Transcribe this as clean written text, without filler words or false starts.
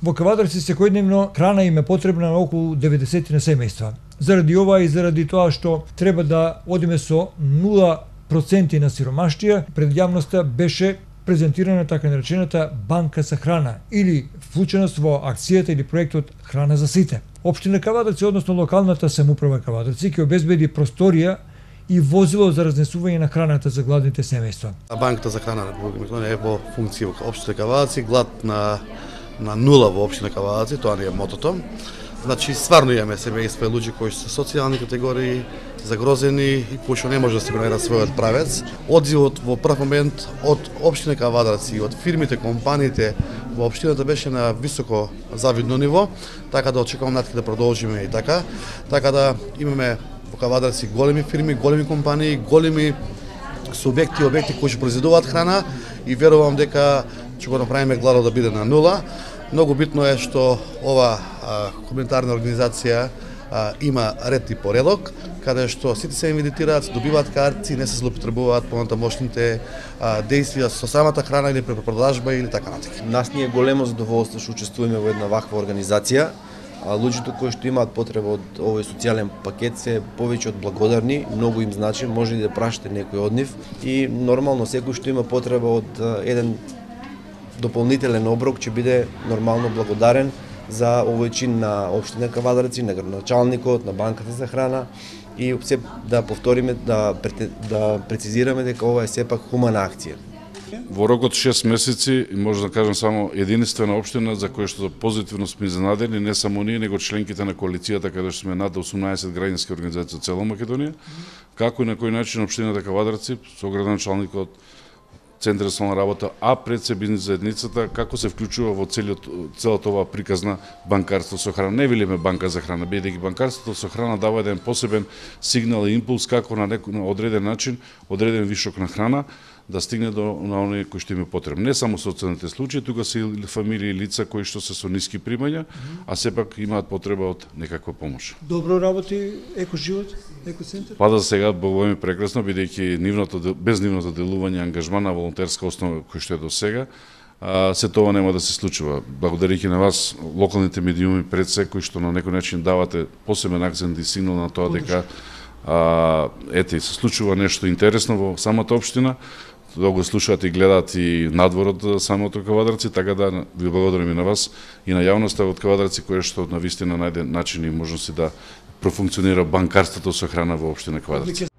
Во Кавадарци секојдневно храна им е потребна на околу 90 на семејства. Заради ова и заради тоа што треба да одиме со 0% на сиромаштија, пред јавноста беше презентирана така наречената банка за храна или вклученост во акцијата или проектот Храна за сите. Општина Кавадарци, односно локалната самоуправа Кавадарци, ќе обезбеди просторија и возило за разнесување на храната за гладните семејства. Банката за храна на Република Македонија е во функција во општина Кавадарци, глад на нула во општина Кавадарци, тоа не е мотото. Значи, стварно имаме семејства и луѓе кои се социјални категории, загрозени и кои што не може да си го најдат својот правец. Одзивот во прв момент од општина Кавадарци и од фирмите, компаниите во општината беше на високо завидно ниво, така да очекувам натаму да продолжиме и така. Така да имаме во Кавадарци големи фирми, големи компании, големи субјекти, објекти кои ќе произведуваат храна и верувам дека ќе го направиме гладот да биде на нула. Многу битно е што ова комунитарна организација има ред и поредок, каде што сите се инвитираат, добиваат карти, не се злоупотребуваат понатамошните действија со самата храна или препродажба или така натаму. Нас ни е големо задоволство што учествуваме во една ваква организација. Луѓето кои што имаат потреба од овој социјален пакет се повеќе од благодарни, многу им значи, може и да прашате некој од нив и нормално секој што има потреба од еден дополнителен оброк ќе биде нормално благодарен за овој чин на општина Кавадарци, на градоначалникот, на банката за храна и се да повториме, да прецизираме дека ова е сепак хумана акција. Во рок од 6 месеци, може да кажам само единствена општина за која што позитивно сме изненадени, не само ние, него членките на коалицијата, каде што сме над 18 граѓански организации од цела Македонија, како и на кој начин општината Кавадарци со градоначалникот, Центар за социјална работа, а пред се бизнис заедницата, како се вклучува во целата оваа приказна банкарство со храна. Не велиме банка за храна, бидејќи банкарството со храна дава еден посебен сигнал и импулс како на одреден начин, одреден вишок на храна, да стигне до оние кои што им е потребно. Не само социјалните случаи, тука се и фамилии и лица кои што се со ниски примања, а сепак имаат потреба од некаква помош. Добро работи Екоживот, Екоцентар? Па да сега богови прекрасно, бидејќи без нивното делување, ангажман на волонтерска основа кој што е до сега, се тоа нема да се случува. Благодарејќи на вас, локалните медиуми пред се, кои што на некој начин давате посебен акцент и сигнал на тоа дека ете, се случува нешто интересно во самата општина, да го слушаат и гледаат и надвор од самото Кавадарци, така да ви благодарам и на вас и на јавноста од Кавадарци, која што на вистина најде начин и можности да профункционира банкарството со храна во општина Кавадарци.